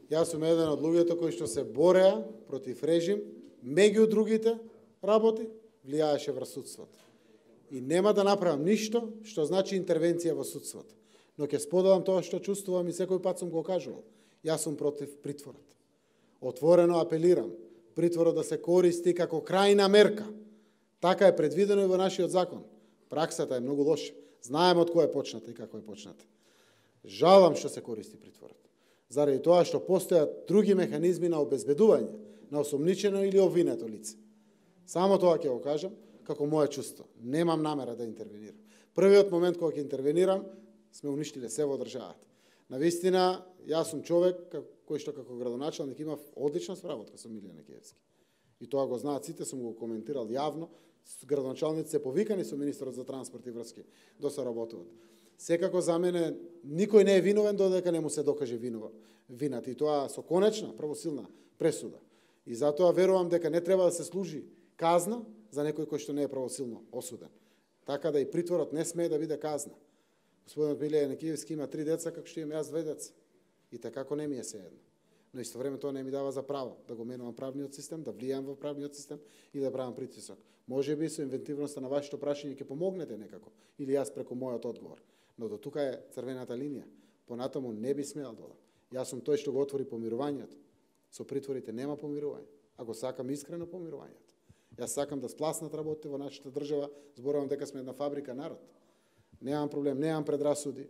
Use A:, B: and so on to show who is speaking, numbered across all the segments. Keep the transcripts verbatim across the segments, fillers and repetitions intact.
A: Јас сум еден од луѓето кои што се бореа против режим, меѓу другите работи, влијаеше врз судството. И нема да направам ништо што значи интервенција во судството. Но ќе споделам тоа што чувствувам и секој пат сум го кажувал. Јас сум против притворот. Отворено апелирам притворот да се користи како крајна мерка. Така е предвидено и во нашиот закон. Праксата е многу лоша. Знаеме од кој е почната и како е почната. Жалам што се користи притворот. Заради тоа што постојат други механизми на обезбедување на осомничено или обвинето лице. Само тоа ќе го кажам како моје чувство. Немам намера да интервенирам. Првиот момент кога ќе интервенирам, сме уништиле се во државата. Навистина, јас сум човек кој што како градоначалник има одлична сработка со Милијан Екиевски. И тоа го знаат сите, сум го коментирал јавно. Градоначалници се повикани со министерот за транспорт и врски да се работуваат. Секако за мене никој не е виновен додека не му се докаже винова, вината, и тоа со конечна правосилна пресуда. И затоа верувам дека не треба да се служи казна за некој кој што не е правосилно осуден. Така да и притворот не смее да биде казна. Господинот Милијан Екиевски има три деца, како што имам јас две деца. И така не ми е сеедно. Но исто време тоа не ми дава за право да го менувам правниот систем, да влијам во правниот систем и да правам притисок. Може би со инвентивноста на вашето прашање ќе помогнете некако, или јас преку мојот одговор. Но до тука е црвената линија. Понатаму не би смеал да одам. Јас сум тој што го отвори помирувањето. Со притворите нема помирување, а го сакам искрено помирувањето. Јас сакам да спласнат работите во нашата држава, зборувам дека сме една фабрика народ. Немам проблем, немам предрасуди.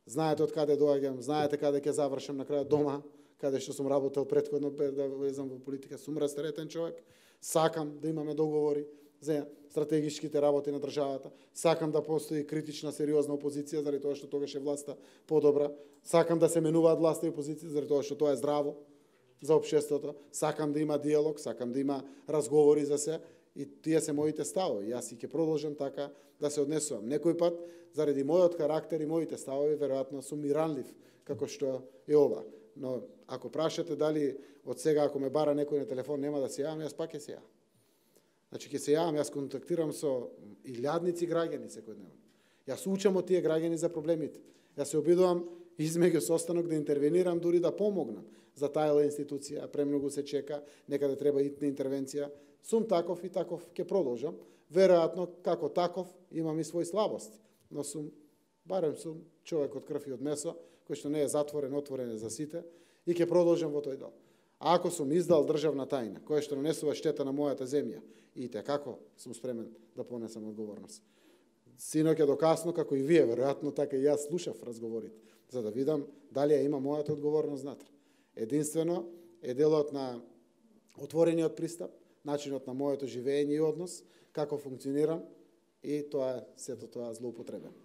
A: Знаете од каде доаѓам, знаете каде ќе завршам на крајот дома, каде што сум работел претходно да влезам во политика. Сум растеретен човек, сакам да имаме договори за стратегичките работи на државата, сакам да постои критична, сериозна опозиција, заради тоа што тогаш е власта подобра, сакам да се менуваат власта и опозиција, заради тоа што тоа е здраво за општеството, сакам да има диалог, сакам да има разговори за се, и тие се моите ставови. Јас и ќе продолжам така да се однесувам. Некој пат, заради мојот карактер и моите ставови, веројатно сум и ранлив, како што е ова. Но ако прашате дали од сега, ако ме бара некој на телефон, нема да се јавам, јас пак ќе се јавам. Значи, ќе се јавам, јас контактирам со илјадници граѓани секојдневно. Јас учам од тие граѓани за проблемите. Јас се обидувам измеѓу состанок да интервенирам, дури да помогнам за тајла институција, премногу се чека, некаде треба итна интервенција. Сум таков и таков ќе продолжам. Веројатно, како таков, имам и своји слабости, но сум, барем сум човек од крв и од месо, кој што не е затворен, отворен е за сите, и ќе продолжам во тој дел. А ако сум издал државна тајна, која што нанесува штета на мојата земја, и те како сум спремен да понесам одговорност. Синоќ е докасно, како и вие, веројатно така и јас слушав разговорите, за да видам дали ја има мојата одговорност внатре. Единствено е делот на отворениот пристап, начинот на моето живење и однос, како функционирам, и тоа е сето тоа злоупотребено.